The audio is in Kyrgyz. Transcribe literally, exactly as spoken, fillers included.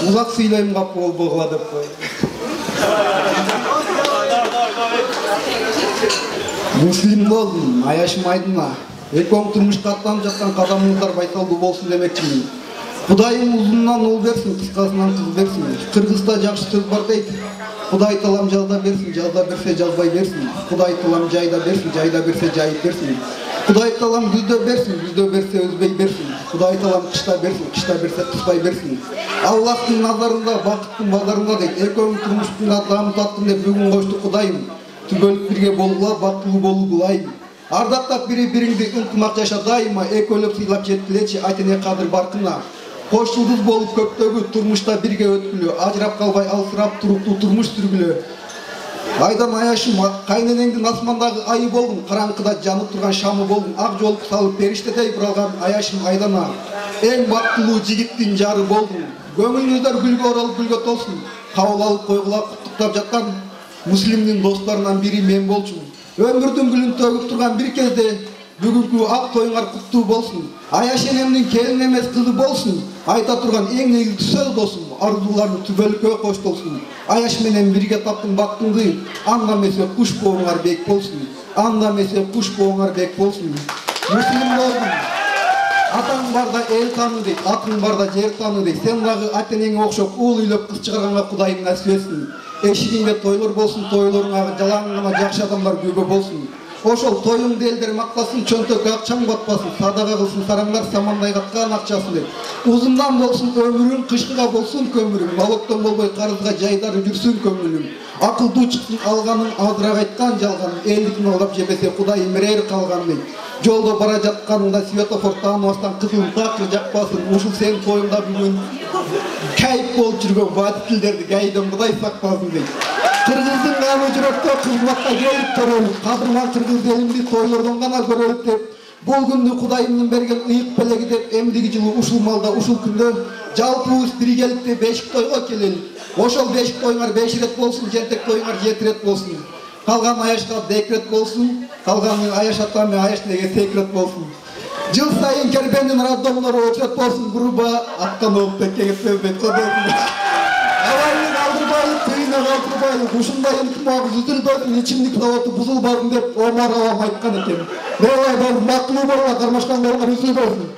Узак сүйлөйм кап болбогула деп кой. Муслим болдум, аяшым айдына. Экөөң турмушка аттанып жаткан кадамыңыздар байсалдуу болсун демекчимин. Кудайым узунунан ул берсин, кыскасынан кыз берсин. Кыргызда жакшы сөз бар дейт. Кудай талам жазда берсин, жазда берсе жазбай берсин. Кудай талам жайда берсин, жайда берсе жайып берсин. Кудай талам күздө берсин, күздө берсе өзбей берсин. Кудай талам кышта берсин, кышта берсе кыспай берсин. Аллахтын назарында, бакыттын базарында дейт. Экөөң турмуштун дамы таттым деп бүгүн кошту Кудайым. Түгөлүп бирге болгула, бактылуу болуу кылайым. Ардактап бири-бириңди ынтымак жаша дайыма, экөөлөп сыйлап жеткилечи айтене кадыр баркына. Кош жылдыз болуп көктөгү турмушта бирге өткүлө, ажырап калбай алсырап туруктуу турмуш сүргүлө. Айдан аяшым, кайненеңдин асмандагы айы болдум, караңкыда жанып турган шамы болдум, ак жолку салып периштедей буралган аяшым айдана. Эң бактылуу жигиттин жары болдум. Көңүлүңүздөр гүлгө оролуп гүлгө толсун. Кабыл алып койгула куттуктап жаткан муслимдин досторунан бири мен болчумун. Өмүрдүн гүлүн төгүп турган бир кезде бүгүнкү ак тоюңар куттуу болсун. Аяш энемдин келин эмес кызы болсун. Айта турган эң негизги сөз досум, арзууларды түбөлүккө коштолсун. Аяш менен бирге таптым бактыңды, анда эмесе куш бооңар бек болсун. Анда эмесе куш бооңар бек болсун. Муслим болдум. Атаң барда эл таны дейт, атың барда жер таны дейт. Сен дагы ата-энеңе окшоп уул үйлөп кыз чыгарганга Кудайым насип этсин. Эшигиңде тойлор болсун, тойлоруңа жалаң гана жакшы адамдар көбө болсун. Ошол тоюңду элдер мактасын, чөнтөккө акчаң батпасын, садага кылсын сараңдар самандай каткан акчасын деп. Узундан болсун өмүрүң, кышкыга болсун көмүрүң, налогдон болбой карызга жайдары жүрсүн көңүлүң. Акылдуу чыксын алганын, азыраак айткан жалганын, элдикин алдап жебесе Кудайым мерер калганын. Жолдо бара жатканыңда светофор тааныбастан кызыл такыр жакпасын. Ушул сенин тоюңда бүгүн кайып болуп жүргөн водительдерди гайдан Кудай сактасын дейт. Кыргыздын гамы жүрөктө кызматка келип төрөлүп, кадырман кыргыз элимди тойлордон гана көрөлүп деп, бул күндү Кудайымдын берген ыйык белеги деп, эмдиги жылы ушул малда ушул күндө жалпыбыз биргеликте бешик тойго келели. Ошол бешик тоюңар беш ирет болсун, жентек тоюңар жети ирет болсун. Калган аяшка декрет болсун, калган аяш ата менен аяш неге секрет болсун. Жыл сайын кербендин роддомдору очот болсун, буруба аткан болуп теккеге сөзбөт кодосун. Алайын алдырбайлык, тыйына калтырбайлык, ушундай ынтымак үзүлбөсүн, ичимдик заводу бузулбасын деп Омар Алам айткан экен. Мелай болуп, бактылуу болуңар, кармашкан болуңар, үзүлбөсүн.